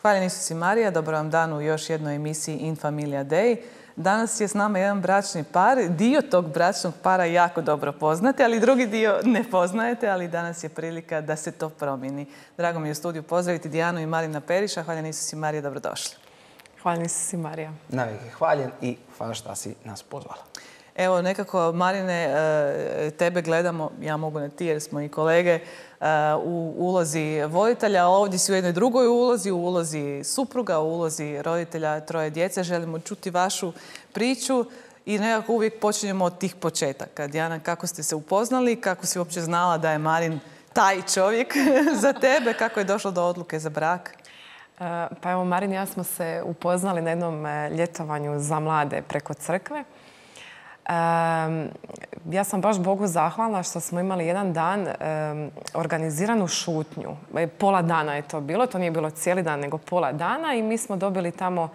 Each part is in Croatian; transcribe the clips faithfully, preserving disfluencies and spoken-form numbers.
Hvala Isusi Marija, dobro vam dan u još jednoj emisiji In Familia Dei. Danas je s nama jedan bračni par. Dio tog bračnog para jako dobro poznate, ali drugi dio ne poznajete, ali danas je prilika da se to promijeni. Drago mi je u studiju pozdraviti Dijanu i Marina Periša. Hvala Isusi Marija, dobrodošli. Hvala Isusi Marija. Navijek je hvaljen i hvala što si nas pozvala. Evo, nekako, Marine, tebe gledamo, ja mogu na ti jer smo i kolege, u ulozi voditelja, a ovdje si u jednoj drugoj ulozi, u ulozi supruga, u ulozi roditelja troje djece. Želimo čuti vašu priču i nekako uvijek počinjemo od tih početaka. Dijana, kako ste se upoznali, kako si uopće znala da je Marin taj čovjek za tebe, kako je došlo do odluke za brak? Pa evo, Marin i ja smo se upoznali na jednom ljetovanju za mlade preko crkve. Um, ja sam baš Bogu zahvalna što smo imali jedan dan um, organiziranu šutnju. Pola dana je to bilo, to nije bilo cijeli dan, nego pola dana i mi smo dobili tamo uh,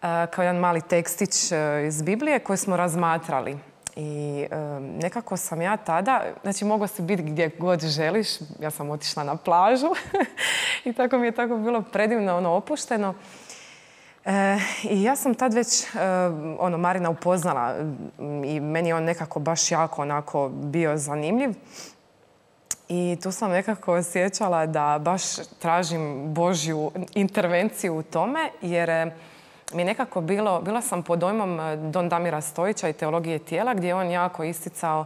kao jedan mali tekstić uh, iz Biblije koji smo razmatrali. I um, nekako sam ja tada, znači mogla si biti gdje god želiš, ja sam otišla na plažu i tako mi je tako bilo predivno, ono, opušteno. E, I ja sam tad već e, ono, Marina upoznala i meni je on nekako baš jako onako bio zanimljiv. I tu sam nekako osjećala da baš tražim Božju intervenciju u tome, jer mi je nekako bilo, bila sam pod dojmom Don Damira Stojića i teologije tijela, gdje je on jako isticao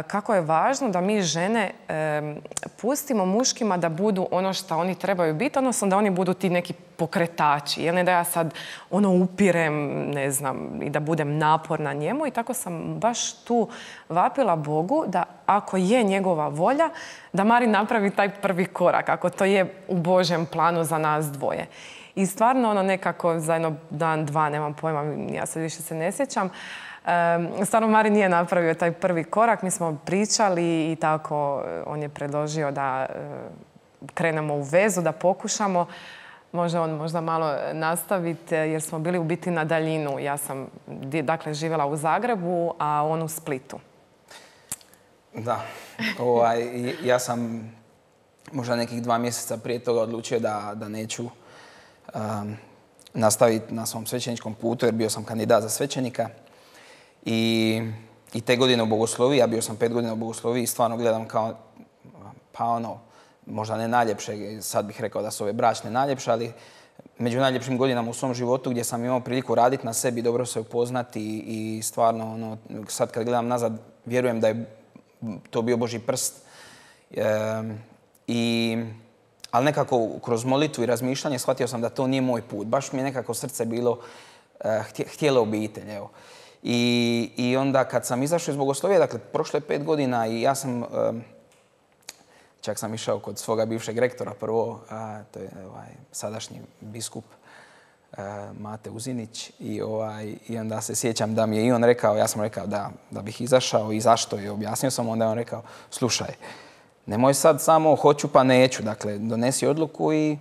kako je važno da mi žene e, pustimo muškima da budu ono što oni trebaju biti, odnosno da oni budu ti neki pokretači. Jel ne da ja sad ono upirem, ne znam, i da budem naporna njemu. I tako sam baš tu vapila Bogu da ako je njegova volja, da Marin napravi taj prvi korak, ako to je u Božjem planu za nas dvoje. I stvarno ono nekako za jedno dan, dva, nemam pojma, ja sad više se ne sjećam, Um, stvarno Marin nije napravio taj prvi korak, mi smo pričali i tako on je predložio da uh, krenemo u vezu, da pokušamo. Može on možda malo nastaviti jer smo bili u biti na daljinu. Ja sam dakle živjela u Zagrebu, a on u Splitu. Da, ovaj, ja sam možda nekih dva mjeseca prije toga odlučio da, da neću um, nastaviti na svom svećeničkom putu jer bio sam kandidat za svećenika. I, I te godine u bogosloviji, ja bio sam pet godina u bogosloviji i stvarno gledam kao, pa ono, možda ne najljepše, sad bih rekao da su ove bračne najljepše, ali među najljepšim godinama u svom životu gdje sam imao priliku raditi na sebi, dobro se upoznati i, i stvarno, ono, sad kad gledam nazad, vjerujem da je to bio Božji prst. E, i, ali nekako kroz molitvu i razmišljanje shvatio sam da to nije moj put. Baš mi je nekako srce bilo e, htjelo obitelj, evo. I, I onda kad sam izašao iz bogoslovije, dakle, prošlo je pet godina i ja sam, um, čak sam išao kod svoga bivšeg rektora prvo, a, to je ovaj, sadašnji biskup a, Mate Uzinić i, ovaj, i onda se sjećam da mi je i on rekao, ja sam rekao da, da bih izašao i zašto je, objasnio sam, onda je on rekao, slušaj, nemoj sad samo hoću pa neću, dakle, donesi odluku i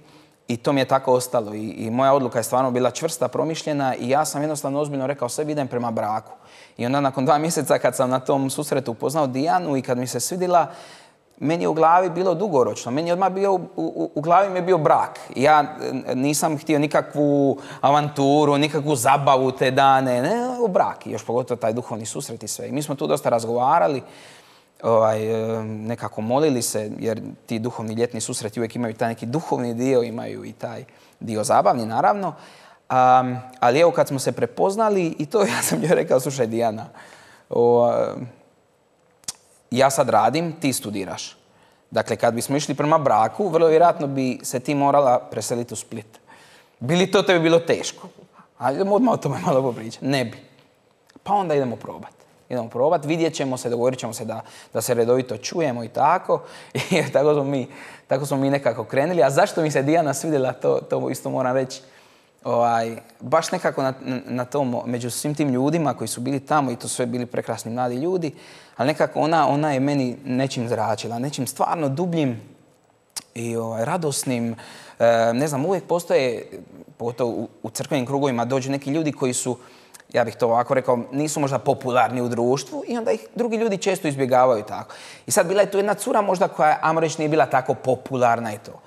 I to mi je tako ostalo. I, I moja odluka je stvarno bila čvrsta, promišljena i ja sam jednostavno ozbiljno rekao sebi idem prema braku. I onda nakon dva mjeseca kad sam na tom susretu upoznao Dijanu i kad mi se svidjela, meni je u glavi bilo dugoročno. Meni je odmah bio, u, u, u glavi mi je bio brak. Ja nisam htio nikakvu avanturu, nikakvu zabavu te dane. Ne, u brak. I još pogotovo taj duhovni susret i sve. I mi smo tu dosta razgovarali. Ovaj, nekako molili se, jer ti duhovni ljetni susreti uvijek imaju taj neki duhovni dio, imaju i taj dio zabavni, naravno. Um, ali evo kad smo se prepoznali i to ja sam joj rekao, slušaj Dijana, o, ja sad radim, ti studiraš. Dakle, kad bismo išli prema braku, vrlo vjerojatno bi se ti morala preseliti u Split. Bi li to tebi bilo teško? Ajde, odmah o tome malo popričati. Ne bi. Pa onda idemo probati. Idemo probati, vidjet ćemo se, dogovorit ćemo se da, da se redovito čujemo i tako. I tako smo mi, tako smo mi nekako krenuli. A zašto mi se Dijana svidjela, to, to isto moram reći. Ovaj, baš nekako na, na tom, među svim tim ljudima koji su bili tamo i to sve bili prekrasni mladi ljudi, ali nekako ona, ona je meni nečim zračila, nečim stvarno dubljim i ovaj, radosnim. E, ne znam, uvijek postoje, pogotovo u, u crkvenim krugovima, dođu neki ljudi koji su, ja bih to ovako rekao, nisu možda popularni u društvu i onda ih drugi ljudi često izbjegavaju tako. I sad bila je tu jedna cura možda koja, ajmo reći, nije bila tako popularna i to.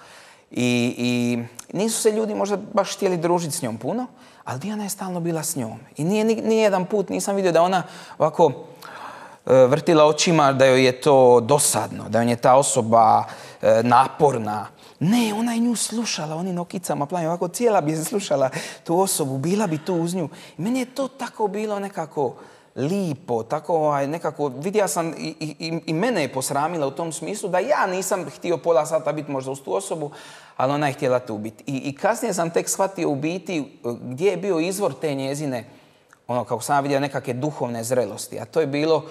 I, i Nisu se ljudi možda baš htjeli družiti s njom puno, ali Dijana je stalno bila s njom. I nije ni jedan put nisam vidio da ona ovako vrtila očima, da joj je to dosadno, da joj je ta osoba naporna. Ne, ona je nju slušala, onim okicama plavim, ovako cijela bi se slušala tu osobu, bila bi tu uz nju. I meni je to tako bilo nekako lipo, tako ovaj, nekako, vidio sam i, i, i mene je posramila u tom smislu da ja nisam htio pola sata biti možda uz tu osobu, ali ona je htjela tu biti. I, i kasnije sam tek shvatio u biti gdje je bio izvor te njezine, ono, kako sam vidio, nekakve duhovne zrelosti. A to je bilo,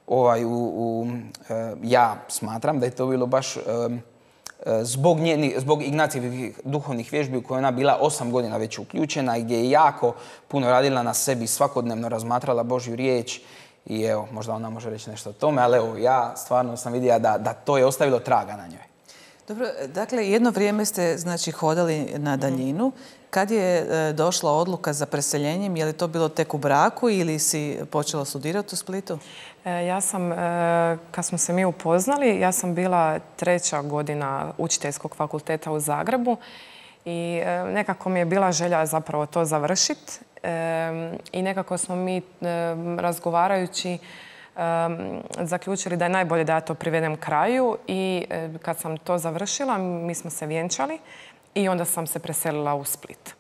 ovaj, u, u, e, ja smatram da je to bilo baš... E, Zbog, njeni, zbog Ignacijevih duhovnih vježbi u koje ona bila osam godina već uključena i gdje je jako puno radila na sebi, svakodnevno razmatrala Božju riječ i evo, možda ona može reći nešto o tome, ali evo, ja stvarno sam vidio da, da to je ostavilo traga na njoj. Dobro, dakle, jedno vrijeme ste, znači, hodali na daljinu. Kad je e, došla odluka za preseljenjem, je li to bilo tek u braku ili si počela studirati u Splitu? E, ja sam, e, kad smo se mi upoznali, ja sam bila treća godina učiteljskog fakulteta u Zagrebu i e, nekako mi je bila želja zapravo to završiti. E, I nekako smo mi e, razgovarajući Um, zaključili da je najbolje da ja to privedem kraju i e, kad sam to završila, mi smo se vjenčali i onda sam se preselila u Split.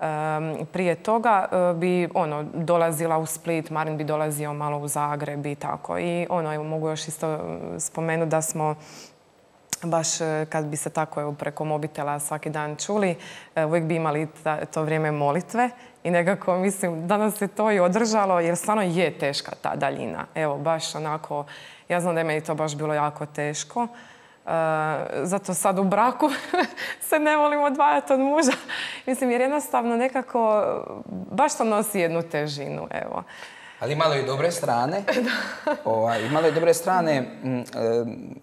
Um, prije toga e, bi ono, dolazila u Split, Marin bi dolazio malo u Zagreb i tako. I ono, evo, mogu još isto spomenuti da smo baš kad bi se tako preko mobitela svaki dan čuli, uvijek bi imali to vrijeme molitve i nekako mislim da nas se to i održalo jer stvarno je teška ta daljina. Evo, baš onako, ja znam da je meni to baš bilo jako teško. Uh, zato sad u braku se ne volim odvajati od muža. Mislim, jer jednostavno nekako baš to nosi jednu težinu, evo. Ali imalo je dobre strane. ovaj, imalo je dobre strane.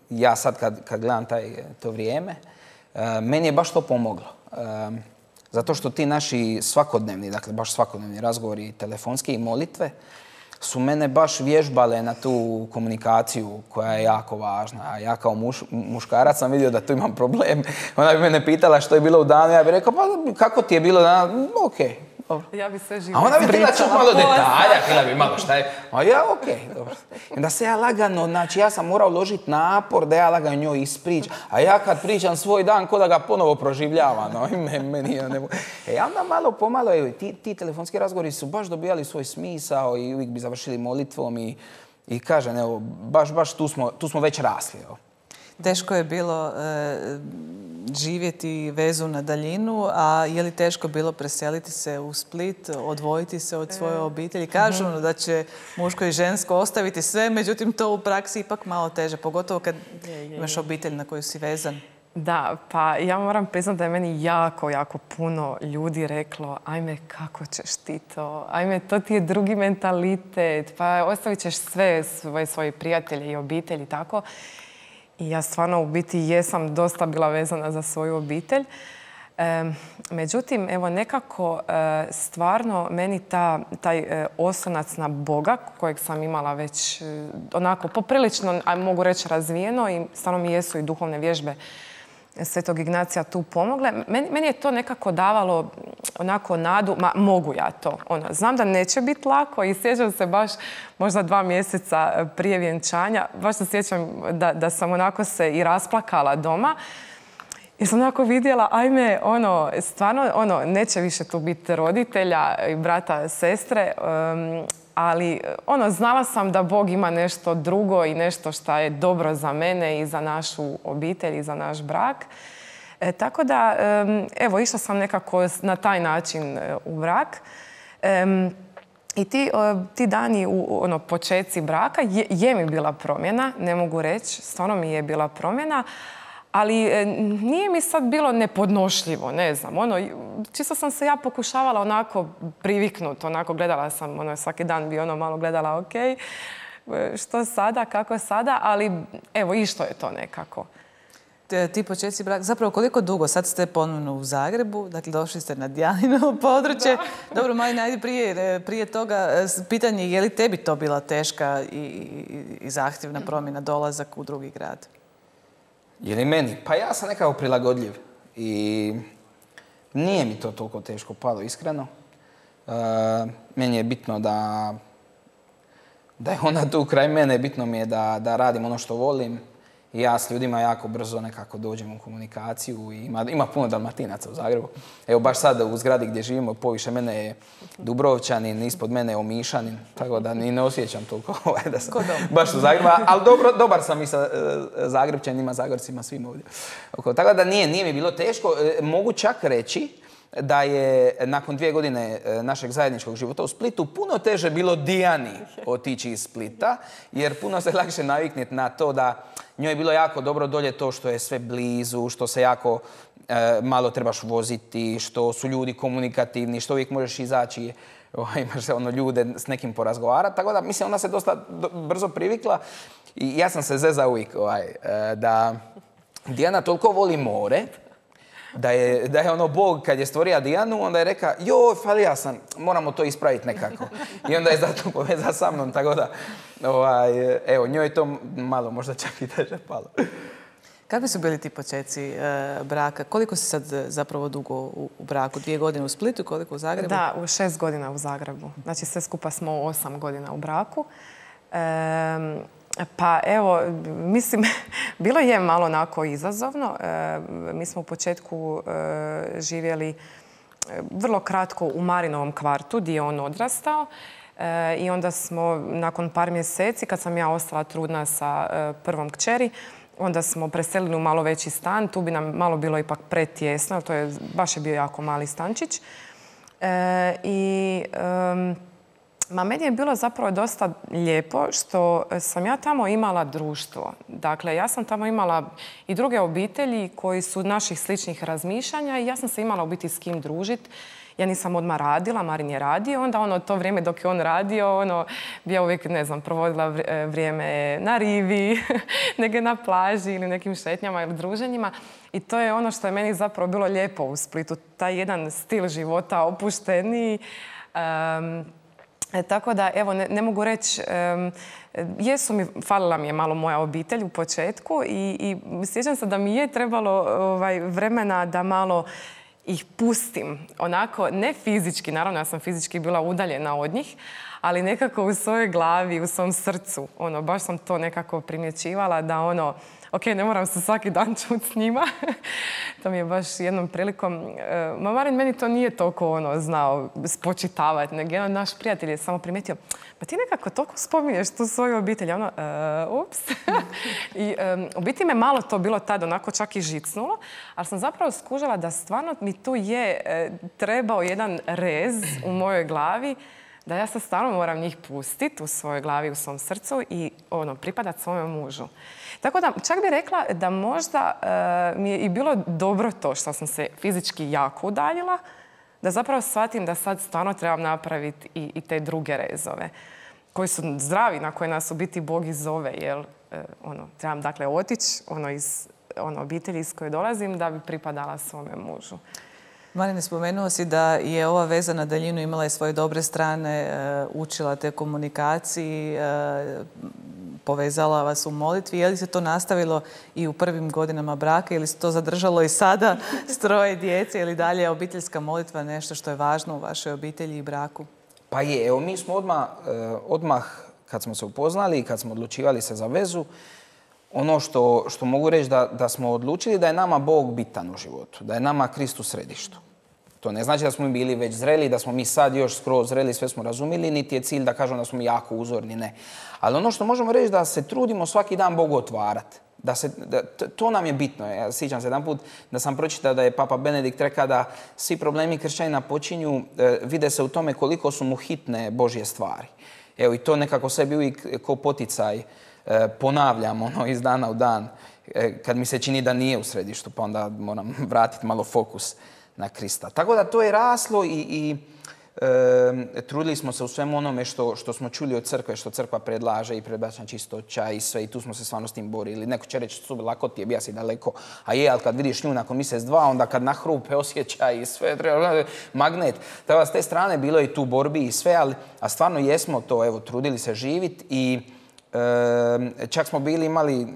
Ja sad kad, kad gledam taj, to vrijeme, meni je baš to pomoglo. Zato što ti naši svakodnevni, dakle baš svakodnevni razgovori, telefonski i molitve, su mene baš vježbale na tu komunikaciju koja je jako važna. A ja kao muš, muškarac sam vidio da tu imam problem. Ona bi mene pitala što je bilo u danu, ja bih rekao, pa kako ti je bilo danas? Okej. Okay. Dobro. Ja bi sve živo a ona bi htjela čuti malo detalja, htjela bi malo šta je. A ja, okej, okay, dobro. Da se ja lagano, znači ja sam morao uložiti napor da ja lagano njoj ispričam. A ja kad pričam svoj dan, ko da ga ponovo proživljavam. No, meni, ja ne mogu. E, onda malo pomalo, evo, ti, ti telefonski razgovori su baš dobijali svoj smisao i uvijek bi završili molitvom i, i kažem, evo, baš, baš tu smo, tu smo već rasli, evo. Teško je bilo e, živjeti vezu na daljinu, a je li teško bilo preseliti se u Split, odvojiti se od svoje obitelji? Kažu mm-hmm. da će muško i žensko ostaviti sve, međutim to u praksi ipak malo teže, pogotovo kad je, je, imaš obitelj na koju si vezan. Da, pa ja moram priznati da je meni jako, jako puno ljudi reklo ajme, kako ćeš ti to? Ajme, to ti je drugi mentalitet, pa ostavit ćeš sve svoje, svoje prijatelje i obitelji i tako. I ja stvarno u biti jesam dosta bila vezana za svoju obitelj. E, međutim, evo nekako e, stvarno meni ta, taj e, oslonac na Boga kojeg sam imala već e, onako poprilično, a mogu reći razvijeno i stvarno mi jesu i duhovne vježbe Svetog Ignacija tu pomogle. Meni, meni je to nekako davalo onako nadu, ma mogu ja to. Ono, znam da neće biti lako i sjećam se baš možda dva mjeseca prije vjenčanja. Baš se sjećam da, da sam onako se i rasplakala doma. I sam onako vidjela, ajme, ono, stvarno, ono, neće više tu biti roditelja i brata, sestre, um, ali ono, znala sam da Bog ima nešto drugo i nešto što je dobro za mene i za našu obitelj i za naš brak. E, tako da, um, evo, išla sam nekako na taj način u brak. Um, I ti, ti dani u ono, početci braka je, je mi bila promjena, ne mogu reći, stvarno mi je bila promjena. Ali e, nije mi sad bilo nepodnošljivo, ne znam, ono, čisto sam se ja pokušavala onako priviknuti, onako gledala sam, ono, svaki dan bi ono malo gledala, ok, što sada, kako sada, ali evo, išlo je to nekako. Te, ti početci braka, zapravo koliko dugo, sad ste ponovno u Zagrebu, dakle došli ste na Dijanino područje. Da. Dobro, Marina, ajde prije, prije toga, pitanje je li tebi to bila teška i, i, i zahtjevna promjena, dolazak u drugi grad? Je li meni? Pa ja sam nekako prilagodljiv i Nije mi to toliko teško palo, iskreno. E, meni je bitno da, da je ona tu kraj mene, bitno mi je da, da radim ono što volim. I ja s ljudima jako brzo nekako dođem u komunikaciju i ima, ima puno Dalmatinaca u Zagrebu. Evo baš sad u zgradi gdje živimo, poviše mene je Dubrovčanin, ispod mene je Omišanin, tako da ni ne osjećam toliko da sam baš u Zagrebu. Ali dobro, dobar sam i sa uh, Zagrebčanima, Zagorcima, svim ovdje. Tako da nije, nije mi bilo teško. Mogu čak reći da je nakon dvije godine našeg zajedničkog života u Splitu puno teže bilo Dijani otići iz Splita, jer puno se lakše navikniti na to da njoj je bilo jako dobro dolje to što je sve blizu, što se jako e, malo trebaš voziti, što su ljudi komunikativni, što uvijek možeš izaći, o, imaš ono ljude s nekim porazgovarati. Tako da, mislim, ona se dosta do, brzo privikla i ja sam se zezao uvijek ovaj, e, da Dijana toliko voli more, Da je, da je ono Bog kad je stvorio Dijanu, onda je rekao, joj, falija sam, moramo to ispraviti nekako. I onda je zato povezao sa mnom, tako da, ovaj, evo, njoj je to malo možda čak i teže palo. Kakvi su bili ti počeci e, braka? Koliko si sad zapravo dugo u, u braku? Dvije godine u Splitu, koliko u Zagrebu? Da, u šest godina u Zagrebu. Znači sve skupa smo osam godina u braku. E, Pa evo, mislim, bilo je malo onako izazovno. E, mi smo u početku e, živjeli vrlo kratko u Marinovom kvartu gdje je on odrastao. E, I onda smo nakon par mjeseci, kad sam ja ostala trudna sa e, prvom kćeri, onda smo preselili u malo veći stan. Tu bi nam malo bilo ipak pretjesno, to je baš je bio jako mali stančić. E, I... E, Ma meni je bilo zapravo dosta lijepo što sam ja tamo imala društvo. Dakle, ja sam tamo imala i druge obitelji koji su naših sličnih razmišljanja i ja sam se imala u biti s kim družiti. Ja nisam odmah radila, Marin je radio, onda ono to vrijeme dok je on radio, ono, bi ja uvijek, ne znam, provodila vrijeme na rivi, neke na plaži ili nekim šetnjama ili druženjima. I to je ono što je meni zapravo bilo lijepo u Splitu, taj jedan stil života opušteniji. Um, E, tako da, evo, ne, ne mogu reći, um, jesu mi, falila mi je malo moja obitelj u početku i, i sjećam se da mi je trebalo ovaj, vremena da malo ih pustim. Onako, ne fizički, naravno ja sam fizički bila udaljena od njih, ali nekako u svojoj glavi, u svom srcu. Ono, baš sam to nekako primjećivala da ono, ok, ne moram se svaki dan čuti s njima. To mi je baš jednom prilikom... Ma Marin meni to nije toliko ono, znao spočitavati, nego jedan naš prijatelj je samo primijetio, pa ti nekako toliko spominješ tu svoju obitelj. Ono, uh, ups. I um, u biti me malo to bilo tad onako čak i žicnulo, ali sam zapravo skužila da stvarno mi tu je uh, trebao jedan rez u mojoj glavi da ja sad stvarno moram njih pustiti u svojoj glavi, u svom srcu i ono, pripadati svome mužu. Tako da čak bih rekla da možda uh, mi je i bilo dobro to što sam se fizički jako udaljila, da zapravo shvatim da sad stvarno trebam napraviti i, i te druge rezove koji su zdravi, na koje nas u biti Bog i zove, jer uh, ono, trebam dakle otići ono, iz ono, obitelji iz koje dolazim da bi pripadala svome mužu. Marine, spomenuo si da je ova veza na daljinu imala i svoje dobre strane, učila te komunikaciji, povezala vas u molitvi. Je li se to nastavilo i u prvim godinama braka ili se to zadržalo i sada s troje djece ili dalje je obiteljska molitva nešto što je važno u vašoj obitelji i braku? Pa je, evo mi smo odmah, odmah kad smo se upoznali i kad smo odlučivali se za vezu, ono što, što mogu reći da, da smo odlučili da je nama Bog bitan u životu, da je nama Krist u središtu. To ne znači da smo bili već zreli, da smo mi sad još skroz zreli, sve smo razumili, niti je cilj da kažemo da smo jako uzorni, ne. Ali ono što možemo reći da se trudimo svaki dan Bogu otvarati. Da se, da, to nam je bitno. Ja sjećam se jedan put da sam pročitao da je Papa Benedikt rekao da svi problemi kršćanina počinju, e, vide se u tome koliko su mu hitne Božje stvari. Evo i to nekako sebi uvijek ko poticaj e, ponavljam ono, iz dana u dan. E, kad mi se čini da nije u središtu, pa onda moram vratiti malo fokus na Krista. Tako da to je raslo i, i e, trudili smo se u svemu onome što, što smo čuli od crkve, što crkva predlaže i predbačna čistoća i sve i tu smo se stvarno s tim borili. Neko će reći, su lako ti je, bija si daleko, a je, ali kad vidiš nju nakon mjesec dva, onda kad nahrupe osjećaj i sve, treba magnet. Tako da s te strane bilo je tu borbi i sve, ali a stvarno jesmo to, evo, trudili se živjeti i e, čak smo bili imali,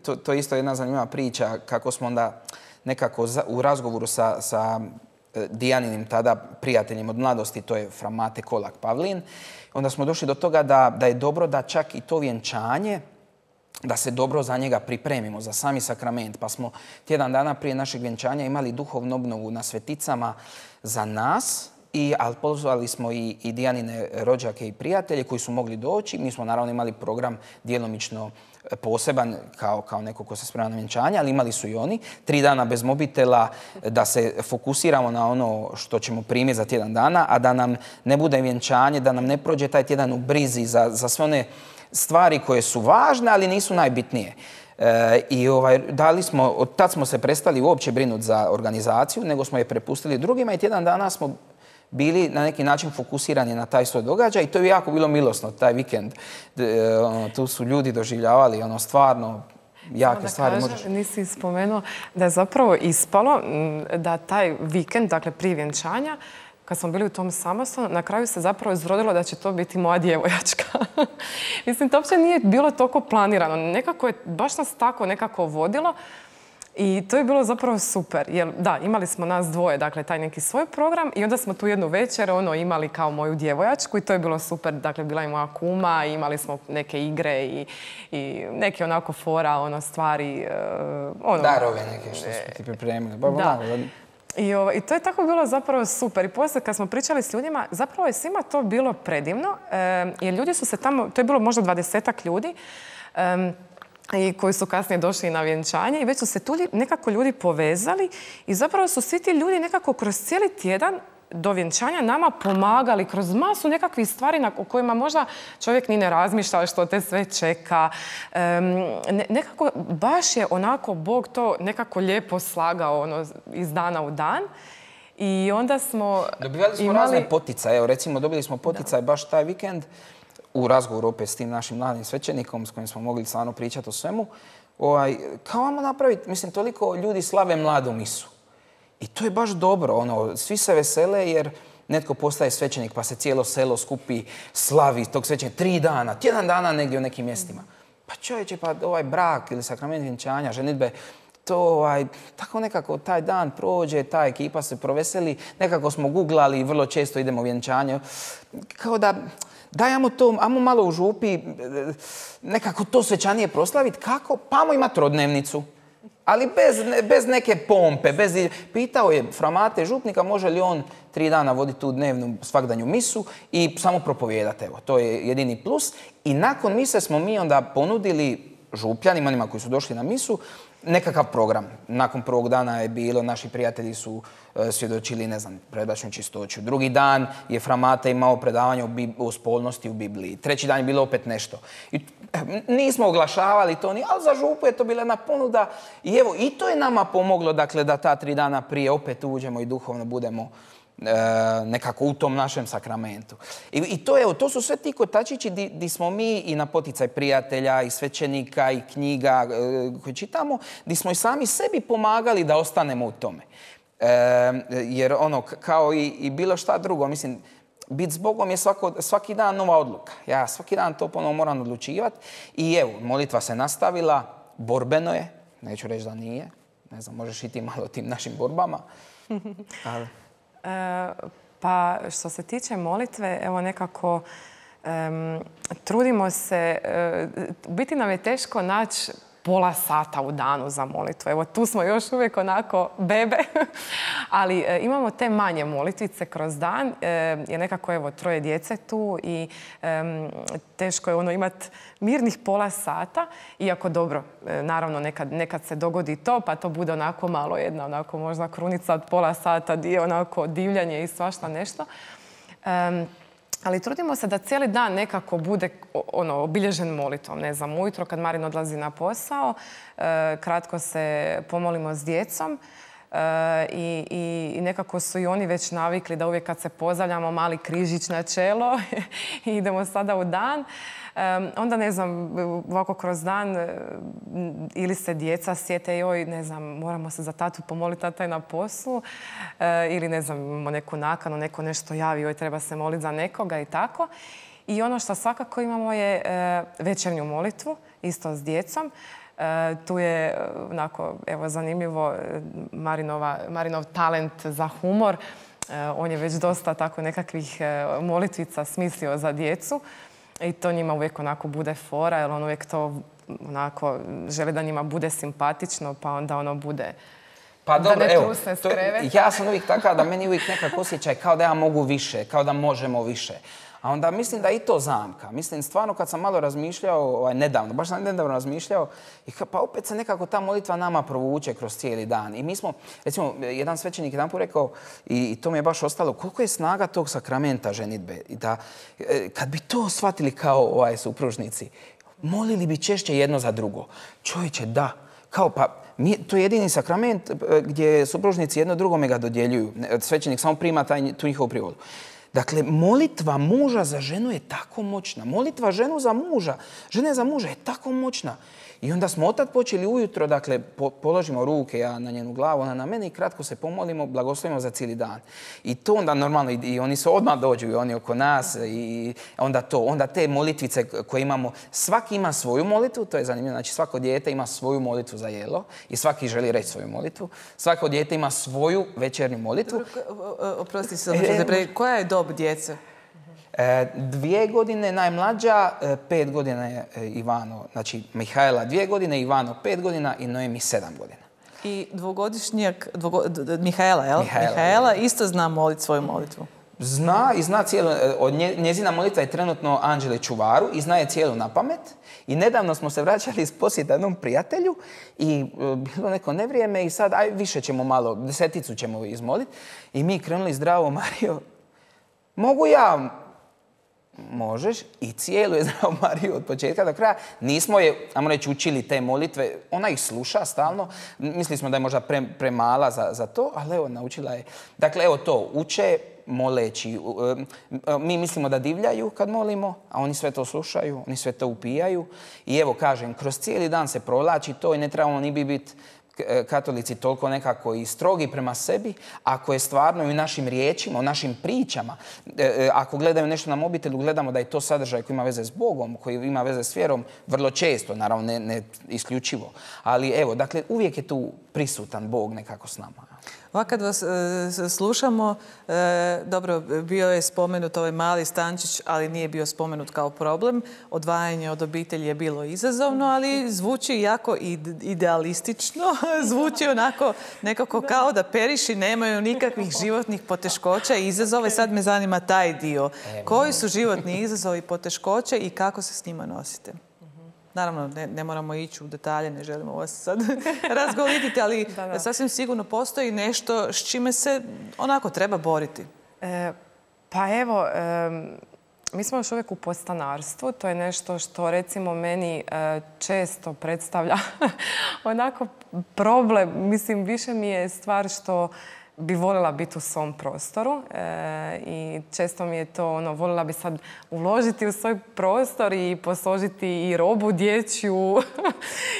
to, to je isto jedna zanimljiva priča, kako smo onda nekako za, u razgovoru sa, sa Dijaninim tada prijateljem od mladosti, to je fra Mate Kolak Pavlin. Onda smo došli do toga da, da je dobro da čak i to vjenčanje, da se dobro za njega pripremimo, za sami sakrament. Pa smo tjedan dana prije našeg vjenčanja imali duhovnu obnovu na Sveticama za nas, I, ali pozvali smo i, i Dijanine rođake i prijatelje koji su mogli doći. Mi smo naravno imali program djelomično poseban kao, kao neko ko se sprema na vjenčanje, ali imali su i oni. Tri dana bez mobitela da se fokusiramo na ono što ćemo primiti za tjedan dana, a da nam ne bude vjenčanje, da nam ne prođe taj tjedan u brizi za, za sve one stvari koje su važne, ali nisu najbitnije. E, I ovaj, dali smo, od tad smo se prestali uopće brinuti za organizaciju, nego smo je prepustili drugima i tjedan dana smo bili na neki način fokusirani na taj svoj događaj i to je jako bilo milosno, taj vikend. Ono, tu su ljudi doživljavali ono, stvarno jake da stvari. Kažem, možeš... Nisi spomenuo da je zapravo ispalo da taj vikend, dakle prije vjenčanja, kad smo bili u tom samostanu, na kraju se zapravo izrodilo da će to biti moja djevojačka. Mislim, to uopće nije bilo toliko planirano. Nekako je, baš nas tako nekako vodilo. I to je bilo zapravo super, jer da, imali smo nas dvoje, dakle, taj neki svoj program i onda smo tu jednu večer ono, imali kao moju djevojačku i to je bilo super, dakle, bila je moja kuma, imali smo neke igre i, i neke onako fora, ono, stvari. Uh, ono, Darove neke što smo ti pripremili. Ba, da. da. I, ovo, I to je tako bilo zapravo super. I poslije kad smo pričali s ljudima, zapravo je svima to bilo predivno, uh, jer ljudi su se tamo, to je bilo možda dvadesetak ljudi, um, i koji su kasnije došli na vjenčanje i već su se tu nekako ljudi povezali i zapravo su svi ti ljudi nekako kroz cijeli tjedan do vjenčanja nama pomagali kroz masu nekakvih stvari o kojima možda čovjek ni ne razmišlja što te sve čeka. Um, nekako baš je onako Bog to nekako lijepo slagao ono, iz dana u dan. I onda smo Dobivali smo imali... razne poticaje. Evo, recimo, dobili smo poticaj baš taj vikend u razgovoru opet s tim našim mladim svećenikom s kojim smo mogli stvarno pričati o svemu. Ovaj, kao vamo napraviti, mislim, toliko ljudi slave mladu misu. I to je baš dobro. Ono, svi se vesele jer netko postaje svećenik pa se cijelo selo skupi, slavi tog svećenika tri dana, tjedan dana negdje u nekim mjestima. Pa čovječe, pa ovaj brak ili sakrament vjenčanja, ženidbe, to ovaj, tako nekako taj dan prođe, ta ekipa se proveseli, nekako smo googlali i vrlo često idemo u vjenčanje. Kao da, daj, ajmo to, ajmo malo u župi, nekako to svečanije proslaviti. Kako? Pa ajmo imati rodnevnicu. Ali bez, bez neke pompe, bez... Pitao je fra Mate župnika može li on tri dana voditi tu dnevnu svakdanju misu i samo propovijedati. Evo, to je jedini plus. I nakon mise smo mi onda ponudili župljanima, onima koji su došli na misu, nekakav program. Nakon prvog dana je bilo, naši prijatelji su e, svjedočili, ne znam, predačnu čistoću. Drugi dan je fra Mate imao predavanje o, Bib- o spolnosti u Bibliji. Treći dan je bilo opet nešto. I, e, nismo oglašavali to ni, ali za župu je to bila jedna ponuda. I evo, i to je nama pomoglo, dakle, da ta tri dana prije opet uđemo i duhovno budemo e, nekako u tom našem sakramentu. I, i to, evo, to su sve ti kotačići di, di smo mi i na poticaj prijatelja i svećenika i knjiga e, koje čitamo, di smo i sami sebi pomagali da ostanemo u tome. E, jer ono, kao i, i bilo šta drugo, mislim, biti s Bogom je svako, svaki dan nova odluka. Ja svaki dan to ponovno moram odlučivati. I evo, molitva se nastavila, borbeno je, neću reći da nije, ne znam, možeš i ti malo tim našim borbama. Ali... E, pa što se tiče molitve, evo nekako um, trudimo se, uh, biti nam je teško naći pola sata u danu za molitvu. Evo tu smo još uvijek onako bebe, ali e, imamo te manje molitvice kroz dan, e, jer nekako evo troje djece tu i e, teško je ono imati mirnih pola sata, iako dobro, e, naravno nekad, nekad se dogodi to, pa to bude onako malo jedna, onako možda krunica od pola sata, dio onako divljanje i svašta nešto. E, Ali trudimo se da cijeli dan nekako bude ono, obilježen molitvom. Ne znam, ujutro kad Marin odlazi na posao, e, kratko se pomolimo s djecom e, i, i nekako su i oni već navikli da uvijek kad se pozdravljamo mali križić na čelo i idemo sada u dan. E, onda, ne znam, ovako kroz dan e, ili se djeca sjete joj, ne znam, moramo se za tatu pomoliti, tata je na poslu, e, ili ne znam, imamo neku nakanu, neko nešto javi, joj treba se moliti za nekoga i tako. I ono što svakako imamo je e, večernju molitvu, isto s djecom. Tu je onako, evo, zanimljivo Marinova, Marinov talent za humor. On je već dosta tako nekakvih molitvica smislio za djecu i to njima uvijek onako bude fora, jer on uvijek to onako želi da njima bude simpatično, pa onda ono bude pa da dobro, ne evo, trusne s to, kreveta. ja sam uvijek takav da meni uvijek nekako osjećaj kao da ja mogu više, kao da možemo više. A onda mislim da je i to zamka. Mislim, stvarno kad sam malo razmišljao, ovaj, nedavno, baš sam nedavno razmišljao, i ka, pa opet se nekako ta molitva nama provuče kroz cijeli dan. I mi smo, recimo, jedan svećenik jedan put rekao, i, i to mi je baš ostalo, koliko je snaga tog sakramenta ženidbe. I da, kad bi to shvatili kao ovaj, supružnici, molili bi češće jedno za drugo. Čovječe, da. Kao, pa, mi, to je jedini sakrament gdje supružnici jedno drugome ga dodjeljuju. Svećenik samo prima taj, tu njihovu privolu. Dakle, molitva muža za ženu je tako moćna. Molitva ženu za muža, žene za muža je tako moćna. I onda smo otad počeli ujutro, dakle, po, položimo ruke, ja na njenu glavu, ona na mene i kratko se pomolimo, blagoslovimo za cijeli dan. I to onda normalno, i, i oni se odmah dođu, i oni oko nas, i onda to, onda te molitvice koje imamo, svaki ima svoju molitvu, to je zanimljivo, znači svako dijete ima svoju molitvu za jelo i svaki želi reći svoju molitvu. Svako dijete ima svoju večernju molitvu. Oprosti se, koja je dob djece? Dvije godine najmlađa, pet godina je Ivano, znači Mihajla dvije godine, Ivano pet godina i Noemi sedam godina. I dvogodišnjak, dvogo, Mihajla, jel? Mihajla, Mihajla isto zna moliti svoju molitvu. Zna i zna cijelu, od nje, njezina molitva je trenutno Anđele Čuvaru i zna je cijelu na pamet. I nedavno smo se vraćali iz posjeta jednom prijatelju i e, bilo neko nevrijeme i sad, aj više ćemo malo, deseticu ćemo izmoliti. I mi krenuli zdravo, Mario, mogu ja? Možeš. I cijelu je zdravo Mariju od početka do kraja. Nismo je, ajmo reći, učili te molitve. Ona ih sluša stalno. Mislili smo da je možda pre, premala za, za to, ali evo, naučila je. Dakle, evo to, uče moleći. Mi mislimo da divljaju kad molimo, a oni sve to slušaju, oni sve to upijaju. I evo, kažem, kroz cijeli dan se provlači to i ne trebamo ni bi biti katolici toliko nekako i strogi prema sebi, ako je stvarno i u našim riječima, u našim pričama, ako gledaju nešto na mobitelu, gledamo da je to sadržaj koji ima veze s Bogom, koji ima veze s vjerom, vrlo često, naravno ne, ne isključivo. Ali evo, dakle, uvijek je tu prisutan Bog nekako s nama. Ovako kad vas e, slušamo, e, dobro, bio je spomenut ovaj mali stančić, ali nije bio spomenut kao problem. Odvajanje od obitelji je bilo izazovno, ali zvuči jako idealistično. Zvuči onako nekako kao da periši nemaju nikakvih životnih poteškoća i izazova. I sad me zanima taj dio. Koji su životni izazovi i poteškoće i kako se s njima nosite? Naravno, ne, ne moramo ići u detalje, ne želimo vas sad razgolititi, ali da, da. Sasvim sigurno postoji nešto s čime se onako treba boriti. E, pa evo, e, mi smo još uvijek u podstanarstvu. To je nešto što recimo meni e, često predstavlja onako problem. Mislim, više mi je stvar što bi voljela biti u svom prostoru e, i često mi je to ono, voljela bi sad uložiti u svoj prostor i posložiti i robu dječju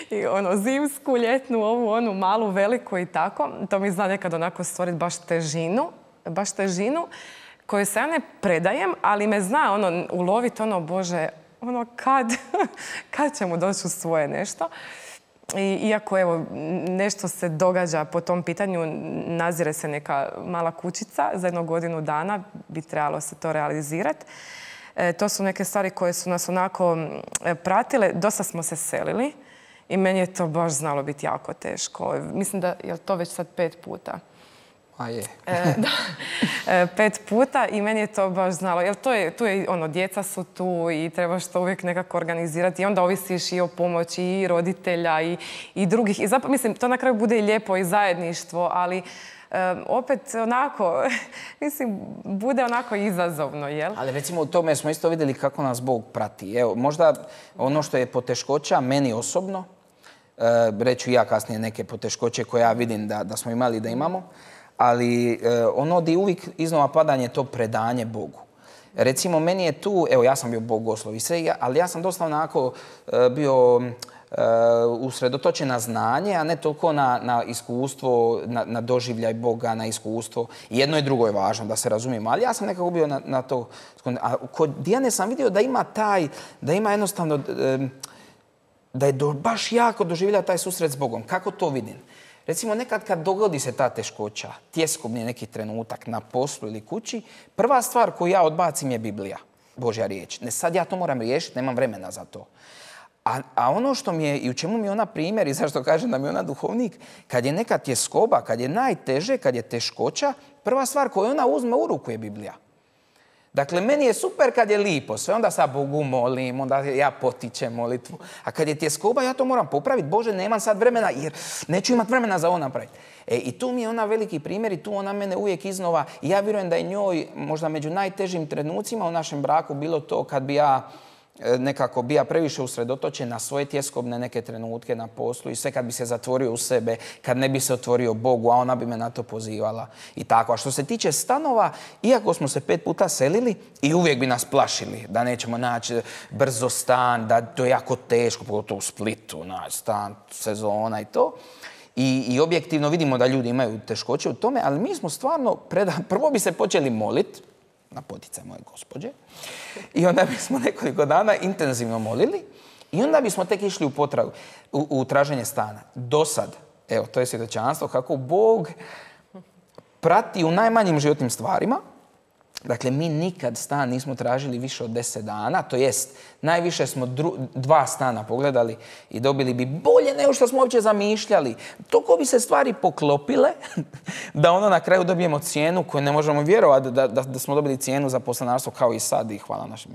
i ono zimsku, ljetnu, ovu, onu malu, veliku i tako. To mi zna nekad onako stvoriti baš težinu, baš težinu koju se ja ne predajem, ali me zna ono, uloviti ono, Bože, ono kad, kad ćemo doći u svoje nešto. I, iako evo, nešto se događa po tom pitanju, nazire se neka mala kućica, za jednu godinu dana bi trebalo se to realizirati. E, to su neke stvari koje su nas onako pratile. Dosta smo se selili i meni je to baš znalo biti jako teško. Mislim da je to već sad pet puta. A je. e, da, e, pet puta i meni je to baš znalo. Jer to je, tu je, ono, djeca su tu i trebaš to uvijek nekako organizirati. I onda ovisiš i o pomoći i roditelja i, i drugih. I zapravo, mislim, to na kraju bude i lijepo i zajedništvo, ali e, opet onako, mislim, bude onako izazovno, jel? Ali recimo u tome smo isto vidjeli kako nas Bog prati. Evo, možda ono što je poteškoća meni osobno, e, reću ja kasnije neke poteškoće koje ja vidim da, da smo imali da imamo, ali e, ono di uvijek iznova padanje to predanje Bogu. Recimo, meni je tu, evo ja sam bio bogoslov i sve, ali ja sam dosta onako e, bio e, usredotočen na znanje, a ne toliko na, na iskustvo, na, na doživljaj Boga, na iskustvo. Jedno i drugo je važno, da se razumijemo, ali ja sam nekako bio na, na to. A kod Dijane sam vidio da ima taj, da ima jednostavno... E, da je do, baš jako doživjela taj susret s Bogom. Kako to vidim? Recimo, nekad kad dogodi se ta teškoća, tjeskobni neki trenutak na poslu ili kući, prva stvar koju ja odbacim je Biblija, Božja riječ. Ne, sad ja to moram riješiti, nemam vremena za to. A, a ono što mi je, i u čemu mi je ona primjer, i zašto kažem da mi je ona duhovnik, kad je neka tjeskoba, kad je najteže, kad je teškoća, prva stvar koju ona uzme u ruku je Biblija. Dakle, meni je super kad je lipo, sve onda sa Bogu molim, onda ja potičem molitvu. A kad je tjeskoba, ja to moram popraviti. Bože, nemam sad vremena jer neću imati vremena za ovo napraviti. E, I tu mi je ona veliki primjer i tu ona mene uvijek iznova. I ja vjerujem da je njoj možda među najtežim trenucima u našem braku bilo to kad bi ja nekako bija previše usredotočen na svoje tjeskobne neke trenutke na poslu i sve kad bi se zatvorio u sebe, kad ne bi se otvorio Bogu, a ona bi me na to pozivala i tako. A što se tiče stanova, iako smo se pet puta selili i uvijek bi nas plašili da nećemo naći brzo stan, da to je jako teško, pogotovo u Splitu, naći stan, sezona i to. I, I objektivno vidimo da ljudi imaju teškoće u tome, ali mi smo stvarno, preda... prvo bi se počeli moliti, na poticaj moje gospođe. I onda bismo nekoliko dana intenzivno molili i onda bismo tek išli u potragu, u, u traženje stana. Do sad, evo, to je svjedočanstvo kako Bog prati u najmanjim životnim stvarima. Dakle, mi nikad stan nismo tražili više od deset dana, to jest najviše smo dru, dva stana pogledali i dobili bi bolje nego što smo uopće zamišljali. Toliko bi se stvari poklopile da ono na kraju dobijemo cijenu koju ne možemo vjerovati da, da, da smo dobili cijenu za poslanarstvo kao i sad i hvala našim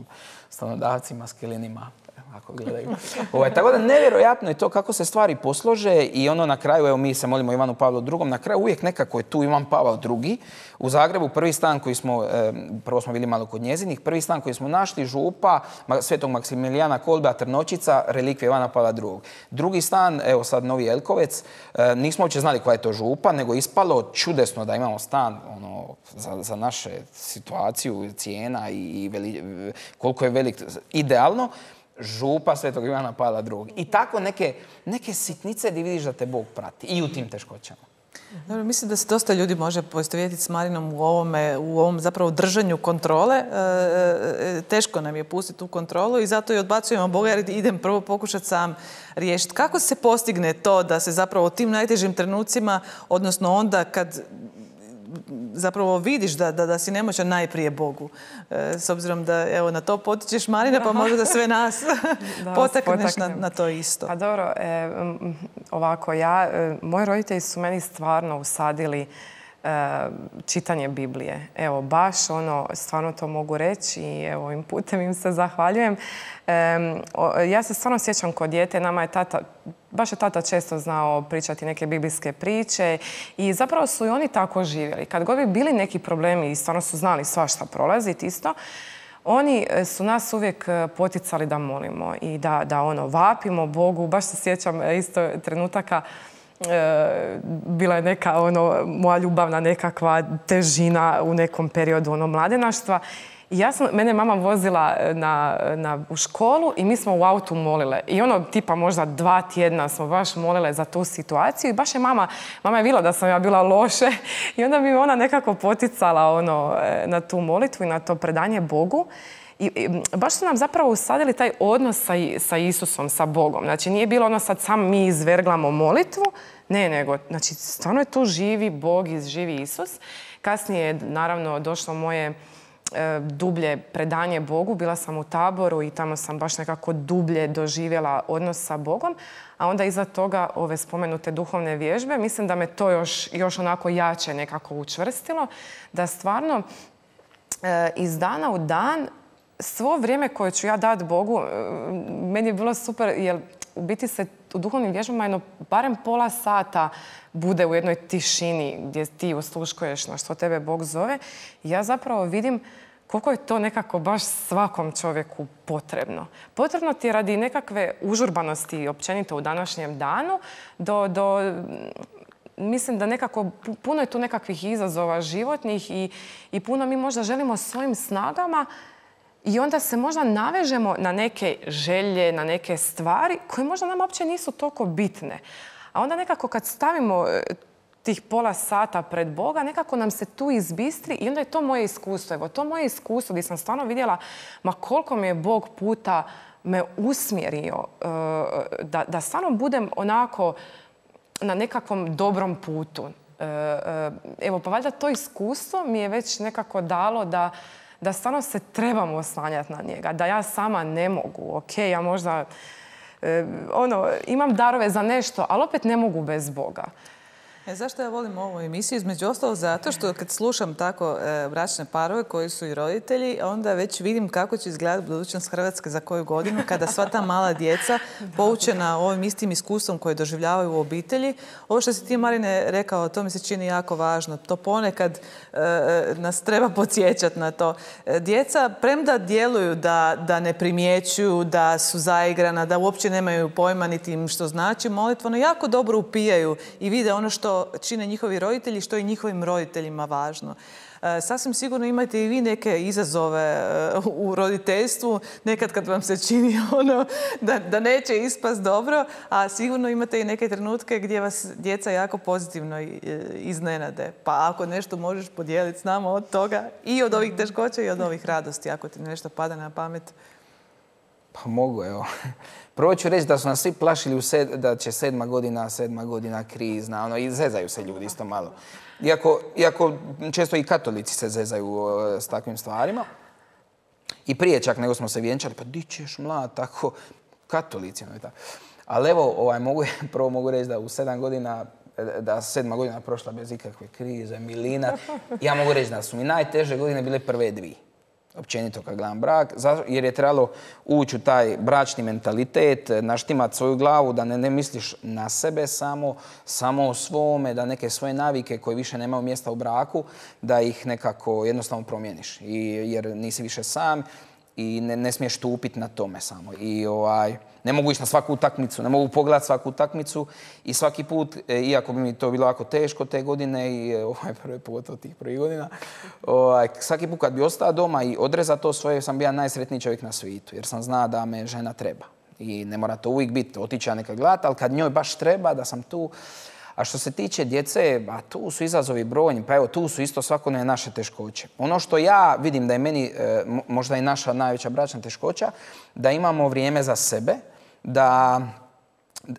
stanodavcima, skilinima. Ako gledaju. Ovaj, tako da nevjerojatno je to kako se stvari poslože i ono na kraju, evo mi se molimo Ivanu Pavlu drugom, na kraju uvijek nekako je tu Ivan Pavao drugi. U Zagrebu prvi stan koji smo, e, prvo smo bili malo kod njezinih, prvi stan koji smo našli, župa Svetog Maksimilijana Kolba, Trnočica, relikvija Ivana Pavla drugog. Drugi stan, evo sad Novi Elkovec, e, nismo uopće znali koja je to župa, nego ispalo čudesno da imamo stan ono, za, za naše situaciju, cijena i, i veli, koliko je velik, idealno. Župa Svetog Ivana Pavla drugog. I tako neke, neke sitnice gdje vidiš da te Bog prati. I u tim teškoćama. Dobro, mislim da se dosta ljudi može poistovjetiti s Marinom u ovome, u ovom zapravo držanju kontrole. E, e, teško nam je pustiti tu kontrolu i zato i odbacujemo Boga jer idem prvo pokušati sam riješiti. Kako se postigne to da se zapravo u tim najtežim trenucima, odnosno onda kad zapravo vidiš da, da, da si nemoćan najprije Bogu. E, s obzirom da evo, na to potičeš Marina, pa možda da sve nas da, potakneš na, na to isto. Pa dobro, e, ovako, ja, e, moji roditelji su meni stvarno usadili e, čitanje Biblije. Evo, baš ono, stvarno to mogu reći i evo, ovim putem im se zahvaljujem. E, o, ja se stvarno sjećam kod dijete, nama je tata, baš je tata često znao pričati neke biblijske priče i zapravo su i oni tako živjeli. Kad god bi bili neki problemi i stvarno su znali svašta prolaziti isto, oni su nas uvijek poticali da molimo i da, da ono, vapimo Bogu. Baš se sjećam isto trenutaka, e, bila je neka ono, moja ljubavna nekakva težina u nekom periodu ono, mladenaštva. I ja sam, mene mama vozila na, na, u školu i mi smo u autu molile. I ono, tipa možda dva tjedna smo baš molile za tu situaciju. I baš je mama, mama je vidjela da sam ja bila loše. I onda bi ona nekako poticala ono, na tu molitvu i na to predanje Bogu. I, i baš su nam zapravo usadili taj odnos sa, sa Isusom, sa Bogom. Znači nije bilo ono sad sam mi izverglamo molitvu. Ne, nego, znači stvarno je tu živi Bog i živi Isus. Kasnije je naravno došlo moje dublje predanje Bogu. Bila sam u Taboru i tamo sam baš nekako dublje doživjela odnos sa Bogom. A onda iza toga ove spomenute duhovne vježbe, mislim da me to još, još onako jače nekako učvrstilo. Da stvarno e, iz dana u dan svo vrijeme koje ću ja dati Bogu, e, meni je bilo super jer u biti se u duhovnim vježbama jedno barem pola sata bude u jednoj tišini gdje ti osluškuješ na što tebe Bog zove. I ja zapravo vidim koliko je to nekako baš svakom čovjeku potrebno. Potrebno ti je radi nekakve užurbanosti općenito u današnjem danu do, do mislim da nekako puno je tu nekakvih izazova životnih i, i puno mi možda želimo svojim snagama i onda se možda navežemo na neke želje, na neke stvari koje možda nam uopće nisu toliko bitne. A onda nekako kad stavimo tih pola sata pred Boga, nekako nam se tu izbistri i onda je to moje iskustvo. Evo, to moje iskustvo gdje sam stvarno vidjela ma koliko mi je Bog puta me usmjerio da, da stvarno budem onako na nekakvom dobrom putu. Evo, pa valjda to iskustvo mi je već nekako dalo da, da stvarno se trebamo oslanjati na njega, da ja sama ne mogu. Ok, ja možda ono, imam darove za nešto, ali opet ne mogu bez Boga. E, zašto ja volim ovu emisiju? Između ostalo zato što kad slušam tako e, bračne parove koji su i roditelji, onda već vidim kako će izgledati budućnost Hrvatske za koju godinu kada sva ta mala djeca poučena ovim istim iskustvom koje doživljavaju u obitelji. Ovo što si ti, Marine, rekao, to mi se čini jako važno. To ponekad e, nas treba podsjećati na to. E, djeca, premda djeluju da, da ne primjećuju, da su zaigrana, da uopće nemaju pojma niti im što znači molitvano, jako dobro upijaju i vide ono što čine njihovi roditelji, što je njihovim roditeljima važno. E, sasvim sigurno imate i vi neke izazove e, u roditeljstvu, nekad kad vam se čini ono da, da neće ispast dobro, a sigurno imate i neke trenutke gdje vas djeca jako pozitivno iznenade. Pa ako nešto možeš podijeliti s nama od toga i od ovih teškoća i od ovih radosti, ako ti nešto pada na pamet. Pa mogu, evo. Prvo ću reći da su nas svi plašili u sed, da će sedma godina, sedma godina krizna, ono, i zezaju se ljudi isto malo. Iako, iako često i katolici se zezaju uh, s takvim stvarima. I prije čak nego smo se vjenčali, pa di ćeš mlad, tako, katolici. No, tako. Ali evo, ovaj, mogu, prvo mogu reći da u sedam godina, da sedma godina prošla bez ikakve krize, milina. Ja mogu reći da su mi najteže godine bile prve dvije. Općenito kad gledam brak, jer je trebalo ući u taj bračni mentalitet, naštimati svoju glavu, da ne, ne misliš na sebe samo, samo o svome, da neke svoje navike koje više nemaju mjesta u braku, da ih nekako jednostavno promijeniš. I, jer nisi više sam i ne, ne smiješ tupiti na tome samo. I ovaj, ne mogu ići na svaku utakmicu, ne mogu pogledati svaku utakmicu i svaki put, iako bi mi to bilo jako teško te godine i ovaj, prvi put od tih prvih godina, ovaj, svaki put kad bi ostao doma i odrezao to svoje, sam bio najsretniji čovjek na svijetu, jer sam znao da me žena treba. I ne mora to uvijek biti, otići ja neka gledati, ali kad njoj baš treba da sam tu. A što se tiče djece, a tu su izazovi brojni, pa evo tu su isto svakodnevne naše teškoće. Ono što ja vidim da je meni e, možda i naša najveća bračna teškoća, da imamo vrijeme za sebe, da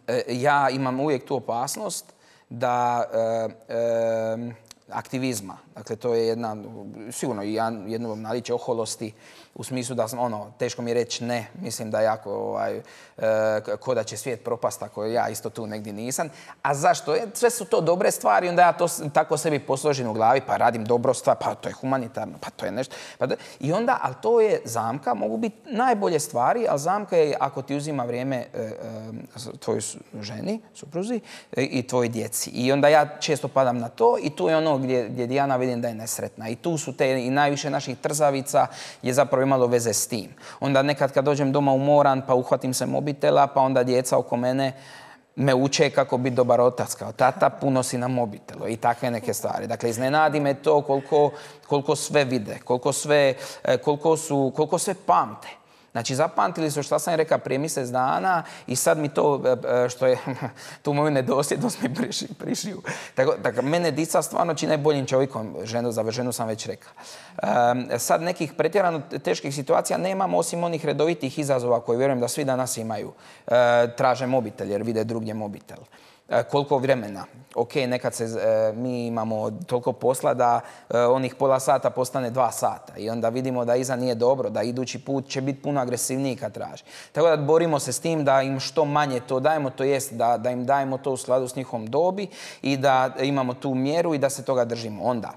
e, ja imam uvijek tu opasnost da e, e, aktivizma, dakle to je jedna, sigurno i jedno naličje oholosti, u smislu da sam, ono, teško mi je reći ne, mislim da jako, ovaj, e, ko da će svijet propast ako ja isto tu negdje nisam. A zašto? Sve su to dobre stvari, onda ja to tako sebi posložim u glavi, pa radim dobro stvar, pa to je humanitarno, pa to je nešto. Pa da, i onda, ali to je zamka, mogu biti najbolje stvari, ali zamka je ako ti uzima vrijeme e, e, tvojoj ženi, supruzi e, i tvojoj djeci. I onda ja često padam na to i tu je ono gdje, gdje Dijana vidim da je nesretna. I tu su te i najviše naših trzavica je zapravo imalo veze s tim. Onda nekad kad dođem doma umoran pa uhvatim se mobitela, pa onda djeca oko mene me uče kako biti dobar otac. Kao tata, puno si na mobitelu i takve neke stvari. Dakle, iznenadi me to koliko, koliko sve vide, koliko sve, koliko su, koliko sve pamte. Znači, zapamtili su što sam rekao prije mjesec dana i sad mi to, što je, tu moju nedosljednost mi priši, prišiju. Tako, tako, mene dica stvarno čine boljim čovjekom, ženu, za ženu sam već rekao. Um, sad nekih pretjerano teških situacija nemamo, osim onih redovitih izazova koje vjerujem da svi danas imaju. Uh, traže mobitel jer vide drugdje mobitel. Koliko vremena. Ok, nekad se, e, mi imamo toliko posla da e, onih pola sata postane dva sata i onda vidimo da iza nije dobro, da idući put će biti puno agresivniji kad traži. Tako da borimo se s tim da im što manje to dajemo, to jest da, da im dajemo to u skladu s njihovom dobi i da imamo tu mjeru i da se toga držimo. Onda,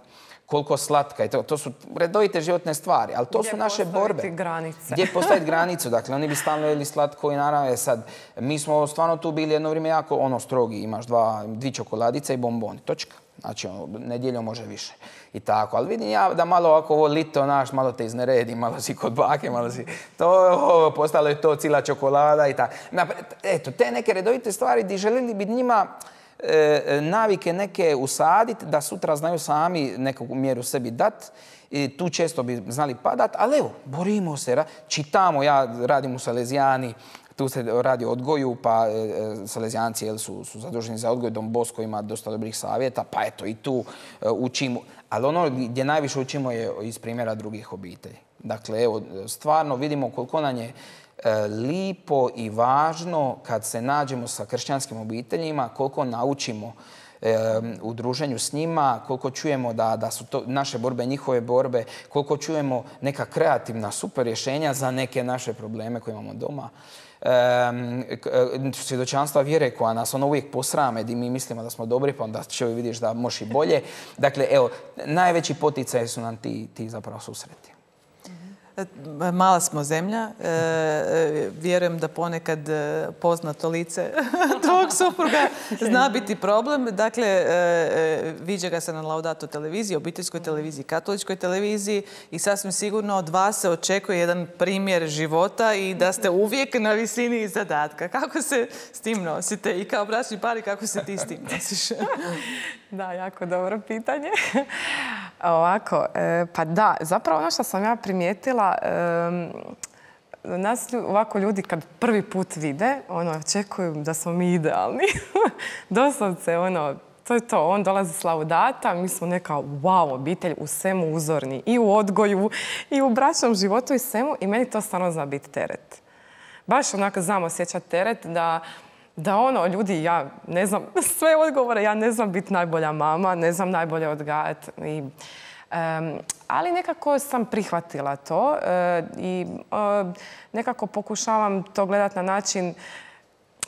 koliko slatka i to, to su redovite životne stvari, ali to gdje su naše borbe. Granice. Gdje postaviti granicu? Dakle, oni bi stalno jeli slatko i naravno sad, mi smo stvarno tu bili jedno vrijeme jako ono strogi, imaš dva, dvi čokoladice i bomboni, točka. Znači, ono, nedjeljom može više i tako. Ali vidim ja da malo ovako ovo lito, naš, malo te izneredi, malo si kod bake, malo si... To, ovo, postalo je to cijela čokolada i tako. Eto, te neke redovite stvari gdje željeli bi njima E, navike neke usaditi da sutra znaju sami neku mjeru sebi dati. I tu često bi znali padat, ali evo, borimo se, čitamo, ja radim u Salezijani, tu se radi o odgoju, pa e, Salezijanci jel, su, su zaduženi za odgoj, Don Bosco ima dosta dobrih savjeta, pa eto i tu e, učimo. Ali ono gdje najviše učimo je iz primjera drugih obitelji. Dakle, evo, stvarno vidimo koliko nam je lipo i važno kad se nađemo sa kršćanskim obiteljima, koliko naučimo u druženju s njima, koliko čujemo da, da su to naše borbe, njihove borbe, koliko čujemo neka kreativna super rješenja za neke naše probleme koje imamo doma. Um, svjedočanstva vjere koja nas ono uvijek posrame, di mi mislimo da smo dobri, pa onda čovjek vidiš da možeš i bolje. Dakle, evo, najveći poticaj su nam ti, ti zapravo susreti. Mala smo zemlja. E, vjerujem da ponekad poznato lice tvog supruga zna biti problem. Dakle, e, viđa ga se na Laudato televiziji, obiteljskoj televiziji, katoličkoj televiziji i sasvim sigurno od vas se očekuje jedan primjer života i da ste uvijek na visini zadatka. Kako se s tim nosite? I kao bračni par, kako se ti s tim nosiš? Da, jako dobro pitanje. Ovako, e, pa da, zapravo ono što sam ja primijetila, e, nas ovako ljudi kad prvi put vide, ono, očekuju da smo mi idealni. Doslovce, ono, to je to. On dolazi s Laudata, mi smo neka wow obitelj, u svemu uzorni. I u odgoju, i u bračnom životu i svemu. I meni to stvarno zna biti teret. Baš onako znam osjećati teret da Da ono, ljudi, ja ne znam sve odgovore, ja ne znam biti najbolja mama, ne znam najbolje odgajati. Um, ali nekako sam prihvatila to uh, i uh, nekako pokušavam to gledati na način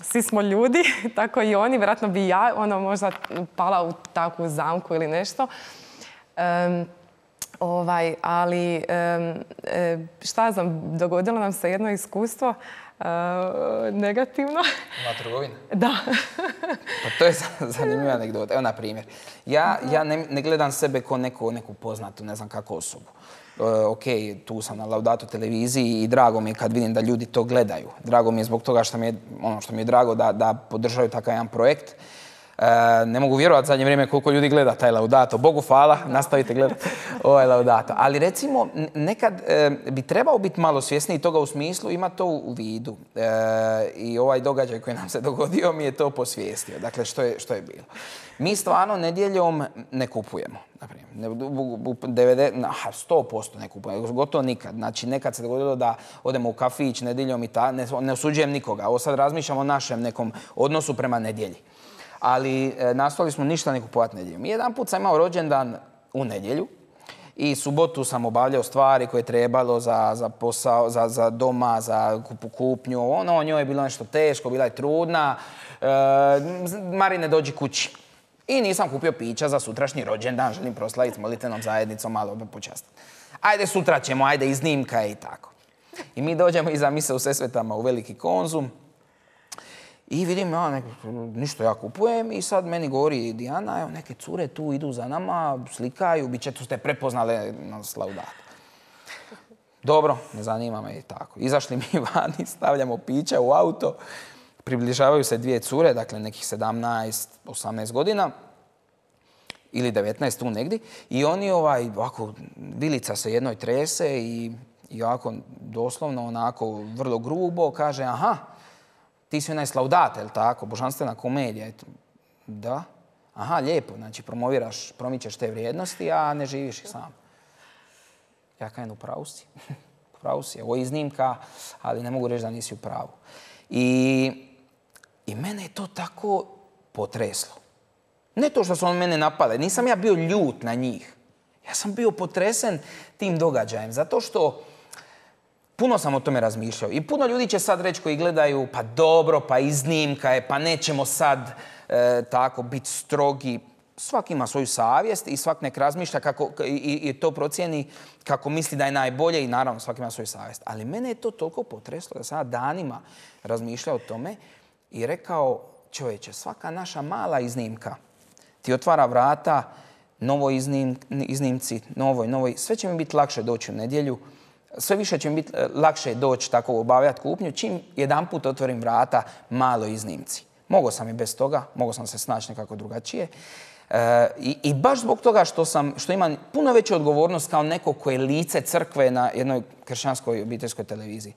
svi smo ljudi, tako i oni. Vjerojatno bi ja ono, možda pala u takvu zamku ili nešto. Um, ovaj, ali um, šta znam, dogodilo nam se jedno iskustvo Uh, negativno. Na trgovini? Da. Pa to je zanimljiva anegdota. Evo, na primjer, ja, ja ne, ne gledam sebe kao neku, neku poznatu, ne znam kako osobu. Uh, ok, tu sam na Laudato televiziji i drago mi je kad vidim da ljudi to gledaju. Drago mi je zbog toga što mi je, ono što mi je drago da, da podržaju takav jedan projekt. Uh, ne mogu vjerovati zadnje vrijeme koliko ljudi gleda taj Laudato. Bogu hvala, nastavite gledati ovaj Laudato. Ali recimo, nekad uh, bi trebao biti malo svjesniji toga u smislu, ima to u vidu. Uh, I ovaj događaj koji nam se dogodio mi je to posvijestio. Dakle, što je, što je bilo. Mi stvarno nedjeljom ne kupujemo. Naprimjer, sto posto ne kupujemo, gotovo nikad. Znači, nekad se dogodilo da odemo u kafić nedjeljom i ta, ne, ne osuđujem nikoga. Ovo sad razmišljam o našem nekom odnosu prema nedjelji. Ali e, nastojali smo ništa ne kupovati nedjeljom. Jedan put sam imao rođendan u nedjelju i subotu sam obavljao stvari koje je trebalo za, za posao, za, za doma, za kupu kupnju. Ono, njoj je bilo nešto teško, bila je trudna. E, Marine, dođi kući. I nisam kupio pića za sutrašnji rođendan, želim proslaviti s molitvenom zajednicom, malo počastiti. Ajde, sutra ćemo, ajde, iznimka i tako. I mi dođemo iza mise u Sesvetama u veliki Konzum. I vidim, ja, nek, ništa ja kupujem i sad meni govori Dijana, evo, neke cure tu idu za nama, slikaju, bit će tu ste prepoznale na Laudatu. Dobro, ne zanima me i tako. Izašli mi vani, stavljamo pića u auto, približavaju se dvije cure, dakle nekih sedamnaest osamnaest godina ili devetnaest tu negdje. I oni ovaj, ovako, vilica se jednoj trese i, i ovako doslovno onako vrlo grubo kaže, aha, ti si onaj s Laudate, jel' tako? Božanstvena komedija. Da. Aha, lijepo. Znači, promoviraš, promičeš te vrijednosti, a ne živiš ih sam. Ja kajem, u pravu si. U pravu si. Ovo je iznimka, ali ne mogu reći da nisi u pravu. I, i mene je to tako potreslo. Ne to što su on mene napadali. Nisam ja bio ljut na njih. Ja sam bio potresen tim događajem. Zato što puno sam o tome razmišljao i puno ljudi će sad reći koji gledaju pa dobro, pa iznimka je, pa nećemo sad e, tako biti strogi. Svak ima svoju savjest i svak nek razmišlja kako, i, i to procijeni kako misli da je najbolje i naravno svak ima svoju savjest. Ali mene je to toliko potreslo da sam ja danima razmišljao o tome i rekao, čovječe, svaka naša mala iznimka ti otvara vrata novoj iznim, iznimci, novoj, novoj. Sve će mi biti lakše doći u nedjelju. Sve više će mi biti lakše doći tako obavljati kupnju, čim jedan put otvorim vrata malo iznimci. Mogao sam i bez toga, mogao sam se snaći nekako drugačije. E, i, I baš zbog toga što, sam, što imam puno veću odgovornost kao neko koje je lice crkve na jednoj kršćanskoj obiteljskoj televiziji.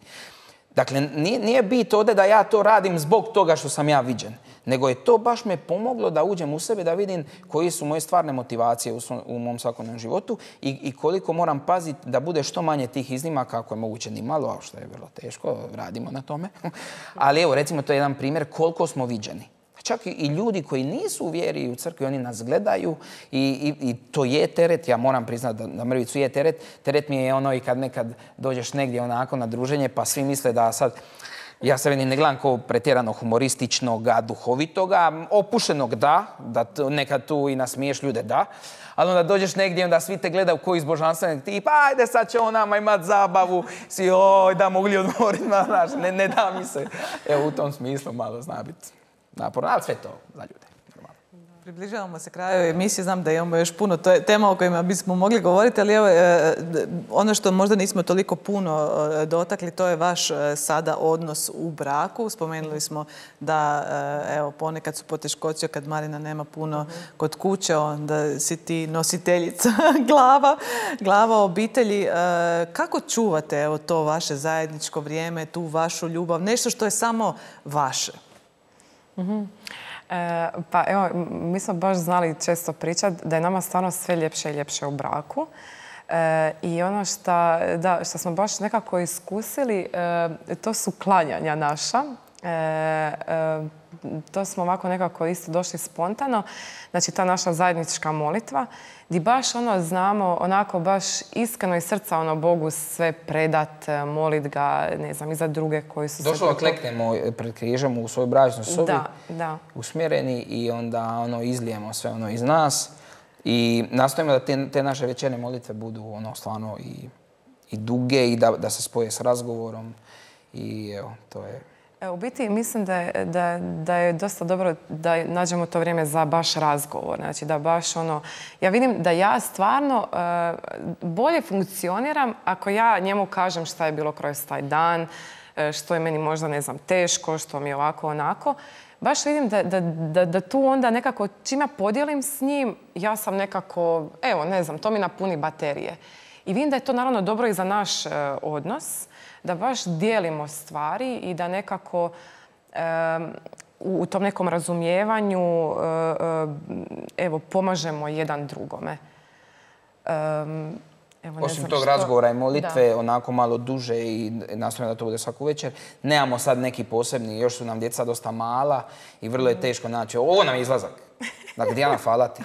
Dakle, nije, nije bit ovdje da ja to radim zbog toga što sam ja viđen, nego je to baš me pomoglo da uđem u sebe, da vidim koji su moje stvarne motivacije u, svom, u mom svakodnevnom životu i, i koliko moram paziti da bude što manje tih iznimaka, ako je moguće ni malo, a što je vrlo teško, radimo na tome. Ali evo, recimo, to je jedan primjer koliko smo viđeni. Čak i ljudi koji nisu u vjeri i u crkvi, oni nas gledaju i, i, i to je teret. Ja moram priznati da, da mrvicu je teret. Teret mi je ono i kad nekad dođeš negdje onako na druženje pa svi misle da sad, ja se ne gledam kao pretjerano humorističnog, duhovitoga, opušenog da, da t, nekad tu i nasmiješ ljude da, ali onda dođeš negdje i onda svi te gledaju koji iz božanstvenog tipa, ajde sad će on nama imat zabavu, svi oj da mogli odmoriti, znaš, ne, ne da mi se. Evo u tom smislu malo zna biti naporno, ali sve to za ljude. Približavamo se kraju emisije, znam da imamo još puno tema o kojima bismo mogli govoriti, ali evo, ono što možda nismo toliko puno dotakli, to je vaš sada odnos u braku. Spomenuli smo da evo, ponekad su poteškoće kad Marina nema puno kod kuće, onda si ti nositeljica glava, glava obitelji. Kako čuvate evo, to vaše zajedničko vrijeme, tu vašu ljubav, nešto što je samo vaše? Mm-hmm. E, pa evo, mi smo baš znali često pričati da je nama stvarno sve ljepše i ljepše u braku. E, I ono što, da, što smo baš nekako iskusili, e, to su klanjanja naša. E, e, to smo ovako nekako isto došli spontano. Znači, ta naša zajednička molitva, gdje baš ono znamo, onako baš iskreno iz srca ono Bogu sve predat, molit ga, ne znam, i za druge koji su Došlo se... da kleknemo pred križom u svojoj bračnoj sobi, da, da. usmjereni i onda ono izlijemo sve ono iz nas i nastojimo da te, te naše večerne molitve budu ono stvarno i, i duge i da, da se spoje s razgovorom i evo, to je... U biti mislim da je, da, da je dosta dobro da nađemo to vrijeme za baš razgovor. Znači da baš ono... Ja vidim da ja stvarno uh, bolje funkcioniram ako ja njemu kažem šta je bilo kroz taj dan, uh, što je meni možda, ne znam, teško, što mi je ovako, onako. Baš vidim da, da, da, da tu onda nekako čim ja podijelim s njim, ja sam nekako, evo, ne znam, to mi napuni baterije. I vidim da je to naravno dobro i za naš uh, odnos, da baš dijelimo stvari i da nekako um, u tom nekom razumijevanju uh, uh, evo, pomažemo jedan drugome. Um, evo, ne Osim znam tog što... razgovora i molitve, da. Onako malo duže i nastojimo da to bude svaku večer. Nemamo sad neki posebni, još su nam djeca dosta mala i vrlo je teško naći. Ovo nam je izlazak. Dakle, Dijana, hvala ti.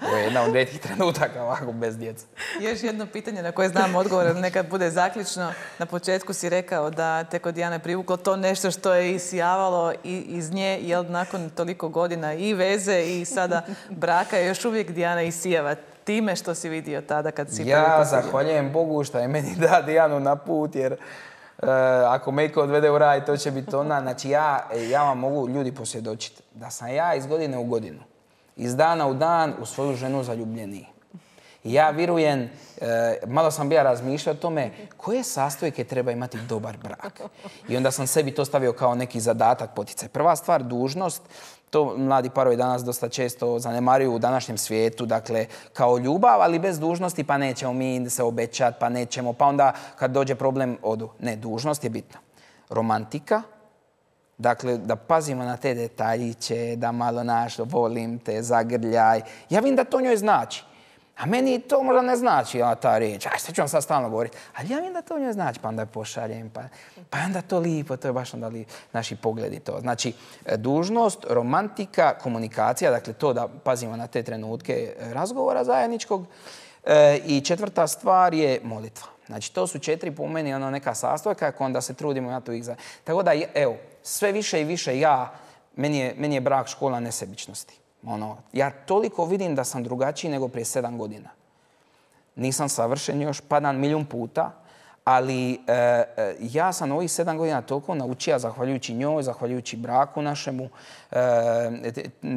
Ovo je jedna od rijetkih trenutaka ovako bez djece. Još jedno pitanje na koje znam odgovor, ali nekad bude zaključno. Na početku si rekao da te kod Dijane privuklo to nešto što je isijavalo iz nje, jel nakon toliko godina i veze i sada braka još uvijek Dijana isijava time što si vidio tada kad si... Ja zahvaljujem Bogu što je meni da Dijanu na put, jer Uh, ako me iko odvede u raj, to će biti ona. Znači, ja, ja vam mogu ljudi posvjedočiti da sam ja iz godine u godinu, iz dana u dan u svoju ženu zaljubljeniji. I ja vjerujem, uh, malo sam bija razmišljao o tome koje sastojke treba imati dobar brak. I onda sam sebi to stavio kao neki zadatak, poticaj. Prva stvar, dužnost. To mladi parovi danas dosta često zanemaruju u današnjem svijetu, dakle, kao ljubav, ali bez dužnosti, pa nećemo mi se obećati, pa nećemo, pa onda kad dođe problem odu. Ne, dužnost je bitna. Romantika, dakle, da pazimo na te detaljiće, da malo naš, volim te, zagrljaj. Ja vidim da to njoj znači. A meni to možda ne znači, ja, ta riječ. Aj, sve ću vam sad stalno govoriti. Ali ja vidim da to njoj znači, pa onda je pošaljem, pa, pa onda to lipo, to je baš onda li naši pogledi to. Znači, dužnost, romantika, komunikacija, dakle to da pazimo na te trenutke razgovora zajedničkog. E, I četvrta stvar je molitva. Znači, to su četiri po meni ono neka sastojka, onda se trudimo na to ih za... Tako da, evo, sve više i više ja, meni je, meni je brak škola nesebičnosti. Ono, ja toliko vidim da sam drugačiji nego prije sedam godina. Nisam savršen još, padam milijun puta, ali e, e, ja sam ovih sedam godina toliko naučio, zahvaljujući njoj, zahvaljujući braku našemu, e,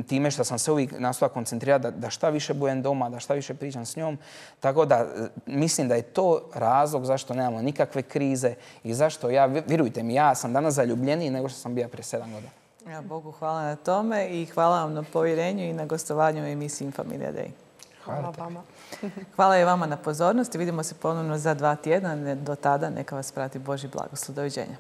time što sam se uvijek nastojao koncentrirati da, da šta više budem doma, da šta više pričam s njom. Tako da mislim da je to razlog zašto nemamo nikakve krize i zašto ja, vjerujte mi, ja sam danas zaljubljeniji nego što sam bio prije sedam godina. Ja, Bogu hvala na tome i hvala vam na povjerenju i na gostovanju u emisiji Infamilija Day. Hvala vama. Hvala i vama na pozornosti. Vidimo se ponovno za dva tjedna. Do tada neka vas prati Božji blagoslov. Doviđenja.